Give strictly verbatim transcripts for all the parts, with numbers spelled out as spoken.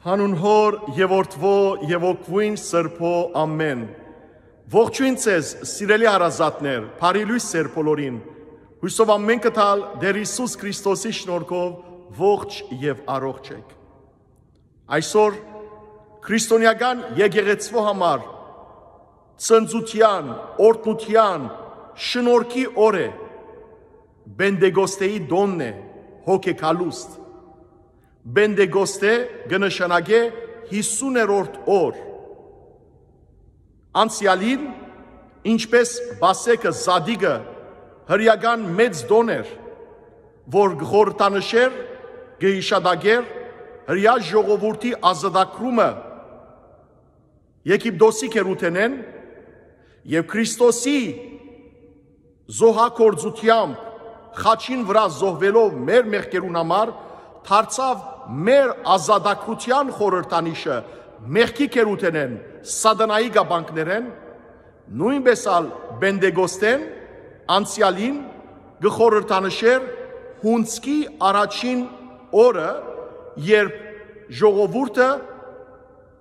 Հանուն Հօր եւ Որդւոյ եւ Հոգւոյն Սրբոյ, ամէն։ Ողջոյն ձեզ, սիրելի հարազատներ, բարի լոյս ձեր բոլորին։ Հոյսով ամէնքը թալ Տէր Յիսուս Քրիստոսի շնորհքով ողջ եւ առողջ էք։ Այսօր քրիստոնեական եկեղեցւոյ համար ծնծութեան, օրհնութեան, շնորհքի օր է։ Պենտեկոստեի տօնն է, հոգեկալուստ։ Պենտեկոստե կը նշանակէ հիսուներորդ օր։ Անցեալին, ինչպէս Պասեքը, Զատիկը, հրեական մեծ տօն էր, որ կը խորհրդանշէր, կը յիշատակէր հրեայ ժողովուրդի ազատագրումը Եգիպտոսի գերութենէն եւ Քրիստոսի զոհագործութեամբ խաչին վրայ զոհուելով մեր մեղքերուն համար, դարձաւ մեր ազատագրութեան խորհրդանիշը մեղքի գերութենէն, սատանայի կապանքներէն, նոյնպէս ալ Պենտեկոստէն անցեալին կը խորհրդանշէր հունձքի առաջին օրը, երբ ժողովուրդը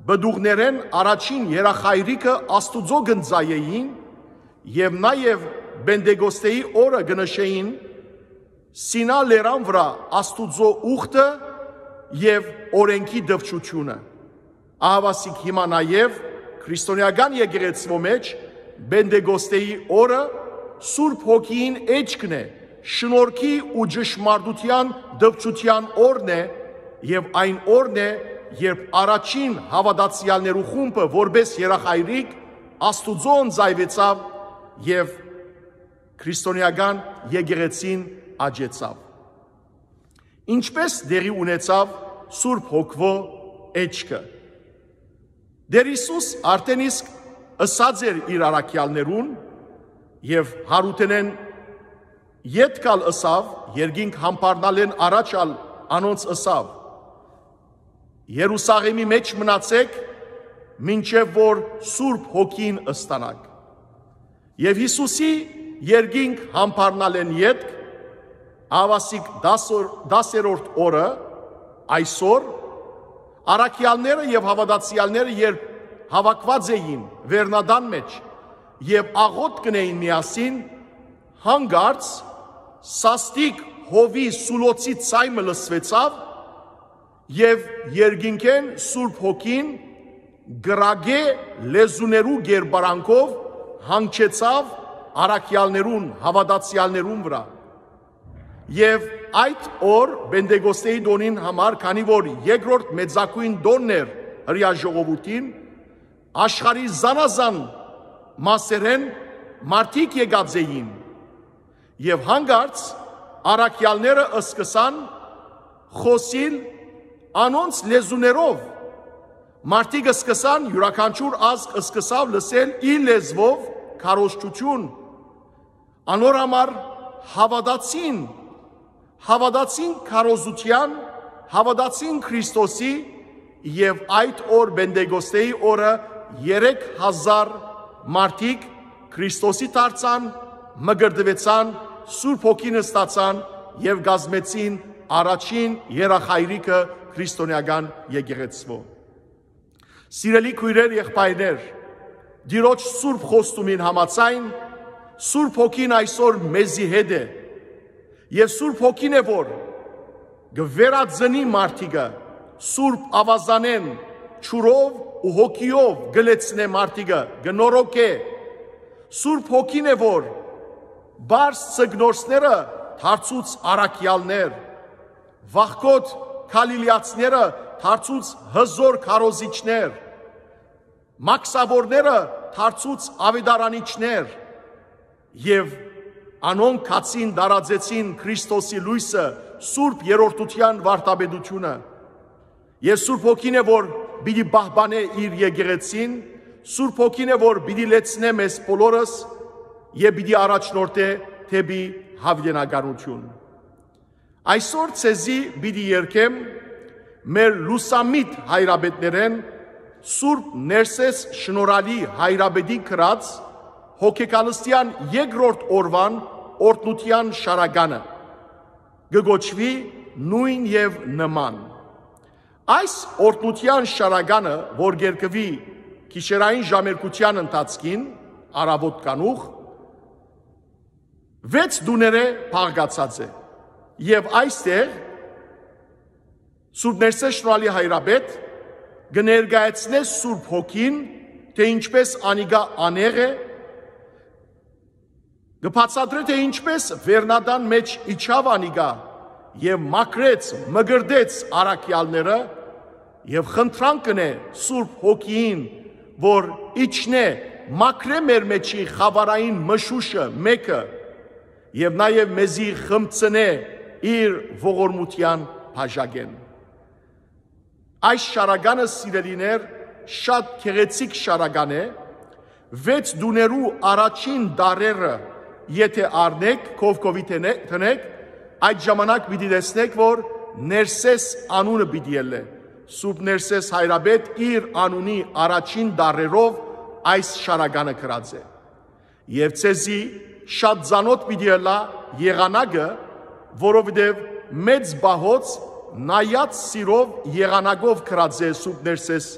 պտուղներէն առաջին երախայրիկը Աստուծոյ կ'ընծայէին եւ նաեւ Պենտեկոստեի օրը կը նշէին Սինա լերան վրայ Աստուծոյ ուխտը եւ օրէնքի դպչութիւնը։ Ահաւասիկ հիմա նաեւ քրիստոնեական եկեղեցւոյ մէջ Պենտեկոստեի օրը Սուրբ Հոգիին էջքն է, շնորհքի ու ճշմարտութեան դպչութեան օրն է եւ այն օրն է, երբ առաջին հաւատացեալներու խումբը որպէս երախայրիկ Աստուծոյ ընծայուեցաւ եւ քրիստոնեական եկեղեցին աճեցաւ։ Ինչպէս տեղի ունեցաւ Սուրբ Հոգւոյ էջքը։ Տէր Յիսուս արդէն իսկ ըսած էր իր առաքեալներուն եւ Յարութենէն ետք ալ ըսաւ, երկինք համբարնալէն առաջ ալ անոնց ըսաւ. «Երուսաղէմի մէջ մնացէք, մինչեւ որ Սուրբ Հոգին ըստանաք»։ Եւ Յիսուսի երկինք համբարնալէն ետք, ահաւասիկ դասոր-, դասերորդ օրը, այսօր, առաքեալները եւ հաւատացեալները երբ հաւաքուած էին վերնատան մէջ եւ աղօթք կ'ընէին միասին, հանկարծ սաստիկ հովի սուլոցի ձայն մը լսուեցաւ եւ երկինքէն Սուրբ Հոգին կրակէ լեզուներու կերպարանքով հանգչեցաւ առաքեալներուն, հաւատացեալներուն վրայ։ Եւ այդ օր, Պենտեկոստեի տօնին համար, քանի որ երկրորդ մեծագոյն տօնն էր հրեայ ժողովուրդին, աշխարհի զանազան մասերէն մարդիկ եկած էին եւ հանկարծ առաքեալները սկսան խօսիլ անոնց լեզուներով։ Մարդիկ սկսան, իւրաքանչիւր ազգ սկսաւ լսել իր լեզուով քարոզչութիւն։ Անոր համար հաւատացին, հաւատացին քարոզութեան, հաւատացին Քրիստոսի եւ այդ օր, Պենտեկոստեի օրը, երեք հազար մարդիկ Քրիստոսի դարձան, մկրտուեցան, Սուրբ Հոգին ստացան եւ կազմեցին առաջին երախայրիկը քրիստոնեական եկեղեցւոյ։ Սիրելի քոյրեր, եղբայրներ, Տիրոջ սուրբ խոստումին համաձայն, Սուրբ Հոգին այսօր մեզի հետ է, եւ Սուրբ Հոգին է, որ կը վերածնի մարդիկը, Սուրբ Աւազանէն ջուրով ու հոգիով կը լեցնէ մարդիկը, կը նորոգէ։ Սուրբ Հոգին է, որ պարզ ձկնորսները դարձուց առաքեալներ, վախկոտ գալիլեացիները դարձուց հզօր քարոզիչներ, մաքսաւորները դարձուց աւետարանիչներ, եւ անոնք գացին, տարածեցին Քրիստոսի լոյսը, Սուրբ Երրորդութեան վարդապետութիւնը։ Եւ Սուրբ Հոգին է, որ պիտի պահպանէ իր եկեղեցին, Սուրբ Հոգին է, որ պիտի լեցնէ մեզ բոլորս եւ պիտի առաջնորդէ դէպի յաւիտենականութիւն։ Այսօր ձեզի պիտի երգեմ մեր լուսամիտ հայրապետներէն Սուրբ Ներսէս Շնորհալի հայրապետի գրած հոգեկալստեան երկրորդ օրուան օրհնութեան շարականը, կը կոչուի Նոյն եւ Նման։ Այս օրհնութեան շարականը, որ կ'երկուի գիշերային ժամերգութեան ընթացքին, առաւօտ կանուխ, վեց տուներէ բաղկացած է։ Եւ այստեղ Սուրբ Ներսէ Շնորհալի Հայրապետ կը ներկայացնէ Սուրբ Հոգին, թէ ինչպէս անիկա անեղ է, կը բացատրէ, թէ ինչպէս վերնատան մէջ իջաւ անիկա եւ մաքրեց, մկրտեց առաքեալները, եւ խնդրանք կ'ընէ Սուրբ Հոգիին, որ իջնէ, մաքրէ մեր մէջի խաւարային մշուշը մէկը եւ նաեւ մեզի խմցնէ իր ողորմութեան բաժակէն։ Այս շարականը, սիրելիներ, շատ գեղեցիկ շարական է, վեց տուներու առաջին դարերը եթէ առնէք, քովքովի դնե-, դնեք, այդ ժամանակ պիտի տեսնեք, որ Ներսէս անունը պիտի ելլէ։ Սուրբ Ներսէս Հայրապետ իր անունի առաջին դարերով այս շարականը գրած է։ Եւ ձեզի շատ ծանօթ պիտի ըլլայ եղանակը, որովհետեւ մեծ պահոց նայած սիրով եղանակով գրած է Սուրբ Ներսէս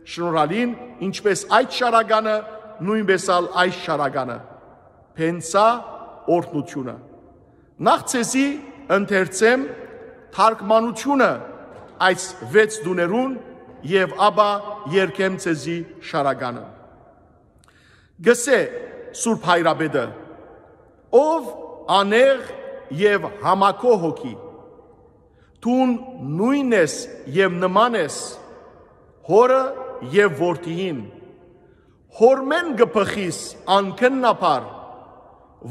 Շնորհալին, ինչպէս այդ շարականը, նոյնպէս ալ այս շարականը, Փենցա օրհնութիւնը։ Նախ ձեզի ընթերցեմ թարգմանութիւնը այս վեց տուներուն եւ ապա երգեմ ձեզի շարականը։ Գսե Սուրբ Հայրապետը. «Ով անեղ եւ համակո հոգի, դուն նոյն ես եւ նման ես Հօրը եւ Որդիին, Հօրմէն կը բխիս անկննաբար,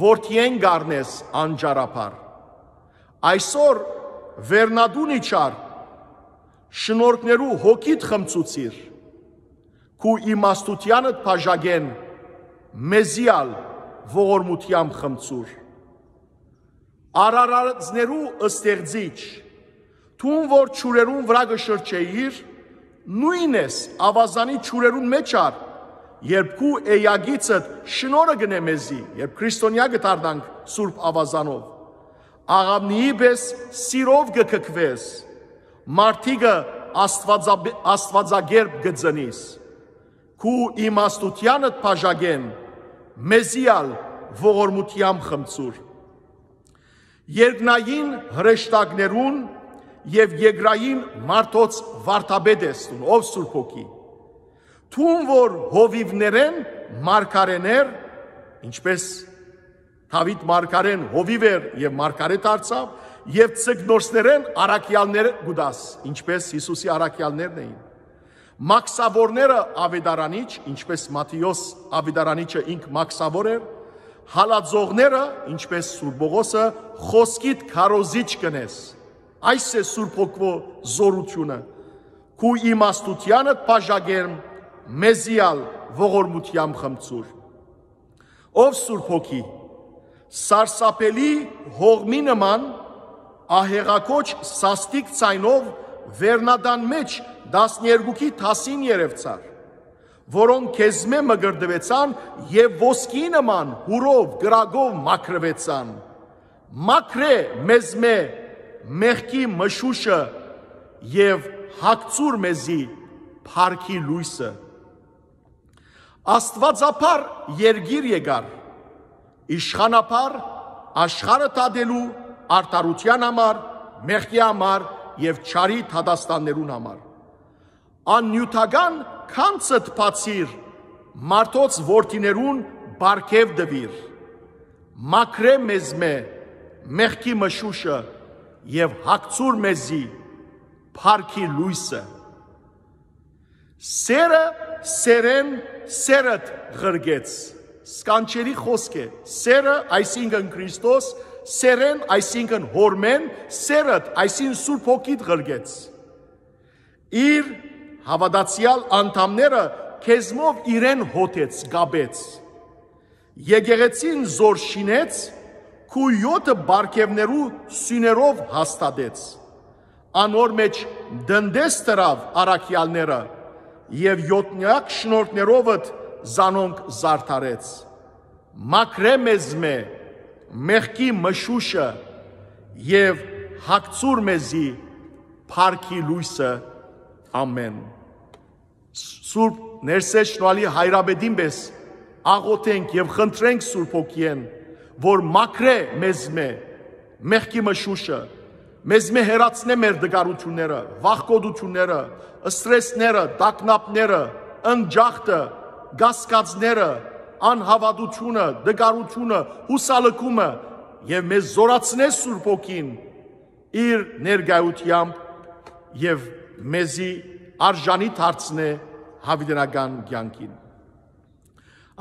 Որդիէն կ'առնես անճարաբար։ Այսօր վերնատուն իջար, շնորհքներու հոգիդ խմցուցիր, քու իմաստութեանդ բաժակէն մեզի ալ ողորմութեամբ խմցուր։ Արարածներու ստեղծիչ, դուն որ ջուրերուն վրայ կը շրջէիր, նոյն ես աւազանի ջուրերուն մէջ ար, երբ քու էակիցդ շնորհը կ'ընէ մեզի, երբ քրիստոնեայ կը դառնանք Սուրբ Աւազանով, աղաւնիի պէս սիրով կը քքուես, մարդիկը աստուածապ-, աստուածակերպ կը ծնիս։ Քու իմաստութեանդ բաժակէն մեզի ալ ողորմութեամբ խմցուր։ Երկնային հրեշտակներուն եւ երկրային մարդոց վարդապետ ես դուն, ով Սուրբ Հոգի։ Դուն որ հովիւներէն մարգարէներ, ինչպէս Դաւիթ մարգարէն հովիւ էր եւ մարգարէ դարձաւ, եւ ձկնորսներէն առաքեալներ կու տաս, ինչպէս Յիսուսի առաքեալներն էին։ Մաքսաւորները ավետարանիչ, ինչպէս Մատթէոս ավետարանիչը ինք մաքսաւոր էր, հալածողները, ինչպէս Սուրբ Պողոսը, խոսքիդ քարոզիչ կ'ընես։ Այս է Սուրբ Հոգու զօրութիւնը։ Քու իմաստութեանդ բաժակէն մեզի ալ ողորմութեամբ խմցուր։ Ով Սուրբ Հոգի, սարսափելի հողմի նման ահեղակոչ սաստիկ ձայնով վերնատան մէջ տասներկուքի դասին երեւցար, որոնք քեզմէ մկրտուեցան եւ ոսկիի նման հուրով, կրակով մաքրուեցան։ Մաքրէ մեզմէ մեղքի մշուշը եւ հագցուր մեզի փառքի լոյսը։ Աստուածաբար երկիր եկար, իշխանաբար աշխարհը դատելու, արդարութեան համար, մեղքի համար եւ չարի դատաստաններուն համար։ Աննիւթական գանձդ բացիր, մարդոց որդիներուն պարգեւ տուիր։ Մաքրէ մեզմէ մեղքի մշուշը եւ հագցուր մեզի փառքի լոյսը։ Սերը սերեն սերդ ղրկեց։ Սքանչելի խօսք է։ Սերը, այսինքն Քրիստոս, սերեն, այսինքն Հօրմէն, սերդ, այսինքն Սուրբ Հոգիդ ղրկեց։ Իր հաւատացեալ անդամները քեզմով իրեն հօտեց, կապեց։ Եկեղեցին զոր շինեց, քու յօթը պարգեւներու սիւներով հաստատեց։ Անոր մէջ տնտես դրաւ առաքեալները եւ յօտնեակ շնորհներովդ զանոնք զարդարեց։ Մաքրէ մեզմէ մեղքի մշուշը եւ հագցուր մեզի փառքի լոյսը։ Ամեն։ Սուրբ Ներսէ Շնորհալի հայրապետին պէս աղոթենք եւ խնդրենք Սուրբ Հոգիէն, որ մաքրէ մեզմէ մեղքի մշուշը, մեզմէ հեռացնէ մեր դժգոհութիւնները, վախկոտութիւնները, սթրեսները, տագնապները, ընկճախտը, կասկածները, անհաւատութիւնը, դժգոհութիւնը, յուսալքումը, եւ մեզ զօրացնէ Սուրբ Հոգին իր ներկայութեամբ եւ մեզի արժանի դարձնէ յաւիտենական կեանքին։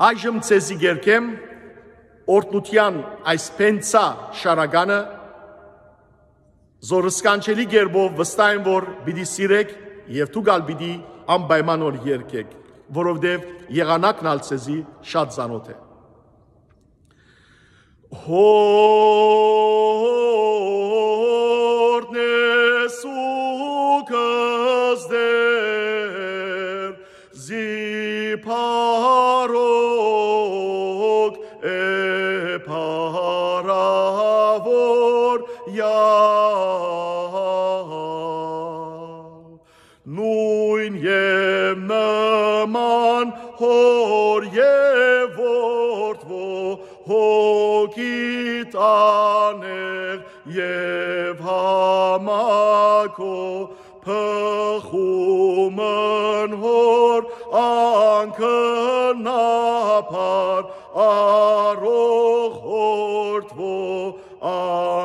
Այժմ ձեզի կերգեմ օրհնութեան այս փենցայ շարականը, զոր սքանչելի կերպով վստահ եմ, որ պիտի սիրէք եւ դուք ալ պիտի անպայման որ երգէք, որովհետեւ եղանակն ալ ձեզի շատ ծանօթ է։ Հորնես ու կզդեր, զի փառող է փառաւոր Յա-, նոյն եւ նման հոր եւ որդի հոգի տանեղ եւ համակո փխումն հոր անկնաբար առող որդի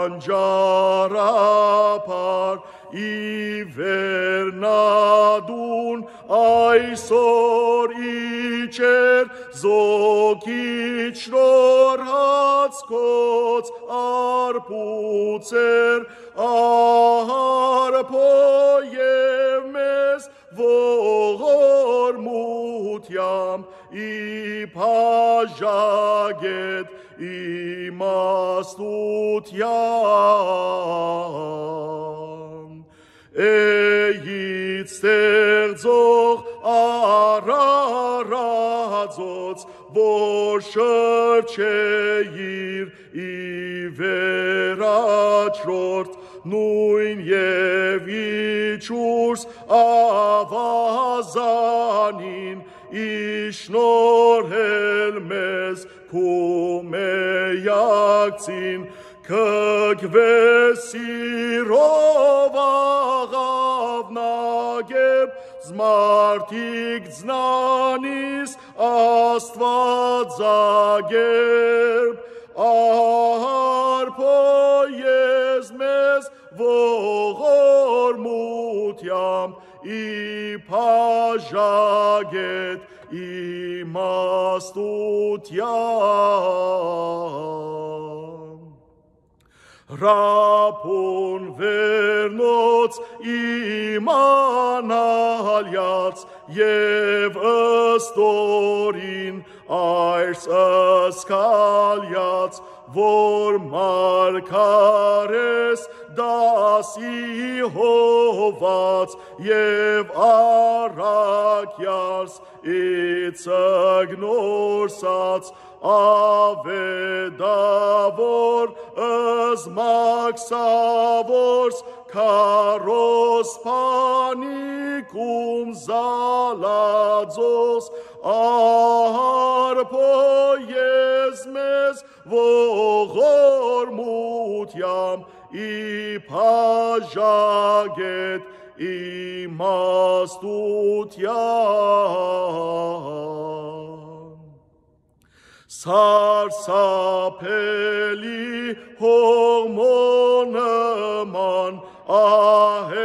անճարաբար ի վերնատուն այսօր իջեր զոքիչ շնորհացքոց արբուցեր արբոյ եւ մեզ ողորմութեամբ ի բաժակետ իմաստութեան։ Էյիդ ստեղծող Արարածոց, որ շրջէիր ի վերաջրորդ նոյն եւ իջուրս աւազանին, ի շնորհել մեզ քու միակցին, կգուես սիրով աղաւնակերպ, զմարդիկ ծնանիս Աստուածակերպ, արբոյ ես մեզ ողորմութեամբ ի բաժակետ իմաստութեան։ Ռաբուն վերնոց իմանալեաց եւ ըստորին այս սքալեաց, որ մարգարէս դասի հոված եւ առաքեալս իցգնորսած, աւետաւոր զմակսաւորս քարոզբանիկում զալածոս, արբոյ ես մեզ ողորմութեամբ ի բաժակետ իմաստութեան։ Սարսափելի հողմոնը ման ահեղակոչ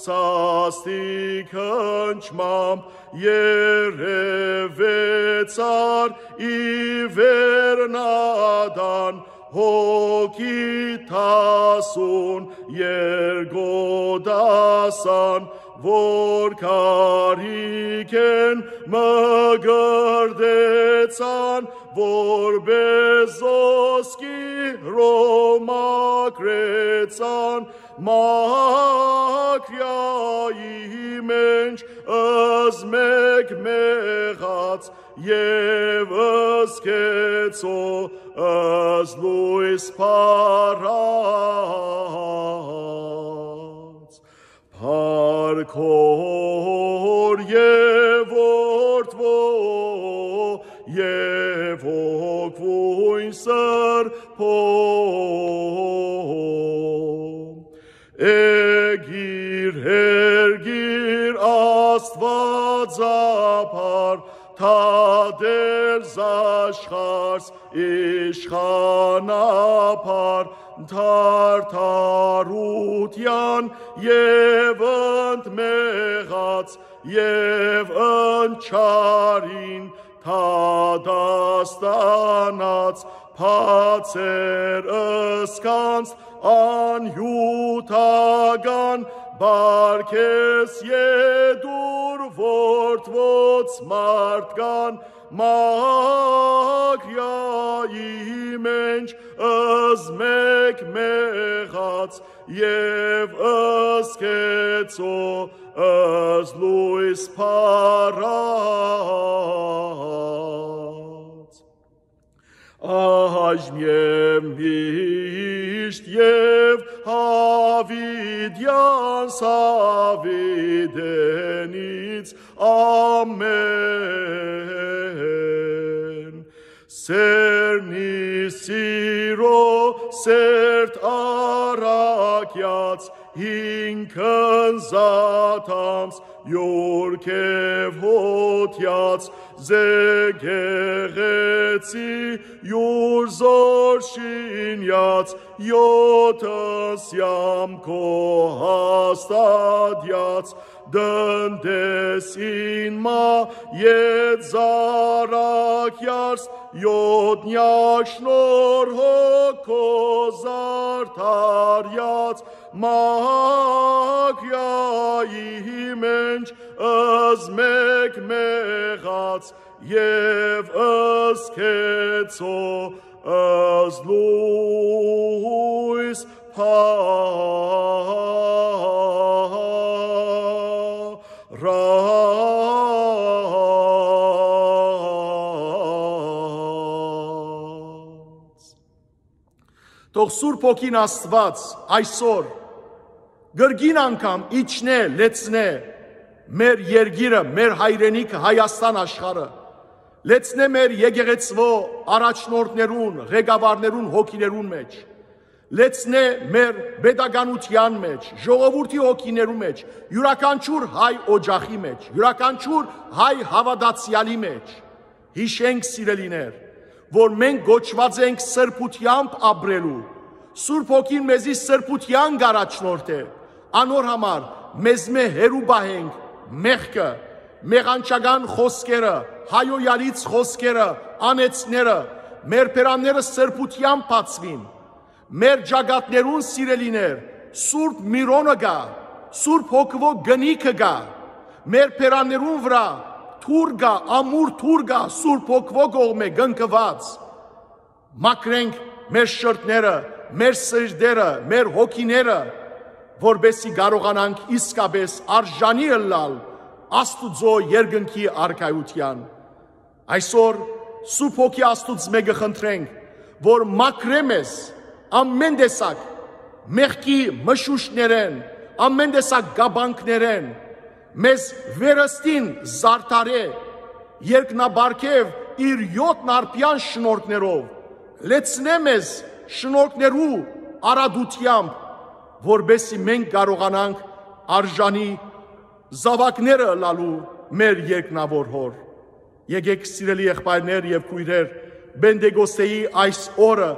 սաստիկ հնչմամբ երեւեցար ի վերնատան հոգի դասուն երկու դասան, որ կարիքէն մկրտեցան, որպէս զոսկի Ռոմա մաքրեցան, մաքրեայի մէջ զմեկ մեղած եւ զգեցո զլոյս փառած։ Արքոր եւ որդվո եւ հոգւոյն սրբո։ Էգիր, էրգիր, Աստուածապար, թատեր զաշխարհս իշխանապար, թարթարութեան եւ ընդմեղած եւ ընչարին թատաստանած, բացեր ըսկանց անյութական, պարգես ետուր որդվոց մարդկան, Մագրիայի մէջ ըզմեկ մեղած եւ ըսկեցո ըզլոյս փառած։ Այժմ եւ միշտ եւ յաւիտեան Սաւիտենից ամէն։ Սերնի սիրո սերտ առակեաց, ինքն զատամս յուր քեւ հոտեաց, զեկեղեցի յուր զոր շինյաց, յոթ սյամ քո հաստատեաց, դնդես ինմա ետ զարակ յարս, յոտնյակ շնորհ հոգ քո զարդարյաց, Մագրիայի մէջ ըզմեկ մեղած եւ ըսկեցո ըզլոյս փառած։ Թող Սուրբ Հոգին Աստուած այսօր կրկին անգամ իջնէ, լեցնէ մեր երկիրը, մեր հայրենիքը, Հայաստան աշխարհը, լեցնէ մեր եկեղեցւոյ առաջնորդներուն, ղեկավարներուն հոգիներուն մէջ, լեցնէ մեր պետականութեան մէջ, ժողովուրդի հոգիներու մէջ, իւրաքանչիւր հայ օջախի մէջ, իւրաքանչիւր հայ հաւատացեալի մէջ։ Յիշենք, սիրելիներ, որ մենք կոչուած ենք սրբութեամբ ապրելու։ Սուրբ Հոգին մեզի սրբութեան կ'առաջնորդէ։ Անոր համար մեզմէ հեռու պահենք մեղքը, մեղանչական խօսքերը, հայոյալից խօսքերը, անեծները, մեր բերանները սրբութեամբ բացուին։ Մեր ճակատներուն, սիրելիներ, Սուրբ Միրոնը կայ, Սուրբ Հոգուոյ կնիքը կայ, մեր բերաններուն վրայ թուր կայ, ամուր թուր կայ, Սուրբ Հոգուոյ կողմէ կնքուած։ Մաքրենք մեր շրթները, մեր սիրտերը, մեր հոգիները, որպեսզի կարողանանք իսկապէս արժանի ըլլալ Աստուծոյ երկնքի արքայութեան։ Այսօր Սուրբ Հոգի Աստուծմէ կը խնդրենք, որ մաքրէ մեզ ամէն տեսակ մեղքի մշուշներէն, ամէն տեսակ կապանքներէն, մեզ վերստին զարդարէ, երկնաբարքեւ իր յոթ նարբեան շնորհներով, լեցնէ մեզ շնորհներու արատութեամբ, որպեսզի մենք կարողանանք արժանի զաւակները ըլլալու մեր երկնաւոր Հօր։ Եկէք, սիրելի եղբայրներ եւ քոյրեր, Պենտեկոստեի այս օրը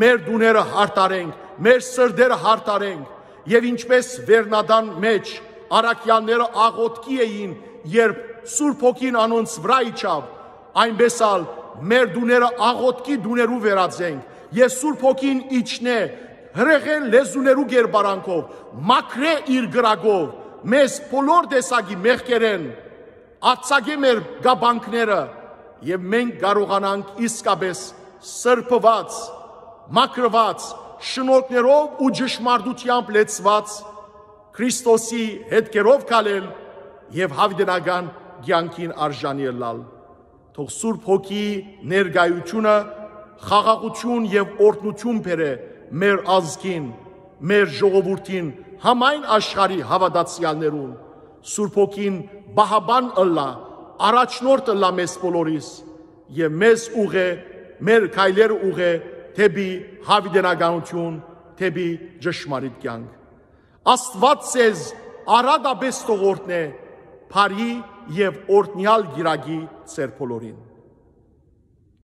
մեր տուները յարդարենք, մեր սրտերը յարդարենք եւ ինչպես վերնատան մէջ առաքեալները աղօթքի էին, երբ Սուրբ Հոգին անոնց վրայ իջաւ, այնպես ալ մեր տուները աղօթքի տուներու վերածենք եւ Սուրբ Հոգին իջնէ հրեղեն լեզուներու կերպարանքով, մաքրէ իր կրակով մեզ բոլոր տեսակի մեղքերէն, արձակէ մեր կապանքները եւ մենք կարողանանք իսկապէս սրբուած, մաքրուած, շնորհներով ու ճշմարտութեամբ լեցուած Քրիստոսի հետքերով քալել եւ յաւիտենական կեանքին արժանի ըլլալ։ Թող Սուրբ Հոգի ներկայութիւնը խաղաղութիւն եւ օրհնութիւն բերէ մեր ազգին, մեր ժողովուրդին, համայն աշխարհի հաւատացեալներուն, Սուրբ Հոգին պահապան ըլլայ, առաջնորդ ըլլայ մեզ բոլորիս եւ մեզ ուղղէ, մեր քայլերը ուղղէ դէպի յաւիտենականութիւն, դէպի ճշմարիտ կեանք։ Աստուած ձեզ առատապէս թող օրհնէ բարի եւ օրհնեալ կիրակի ձեր բոլորին։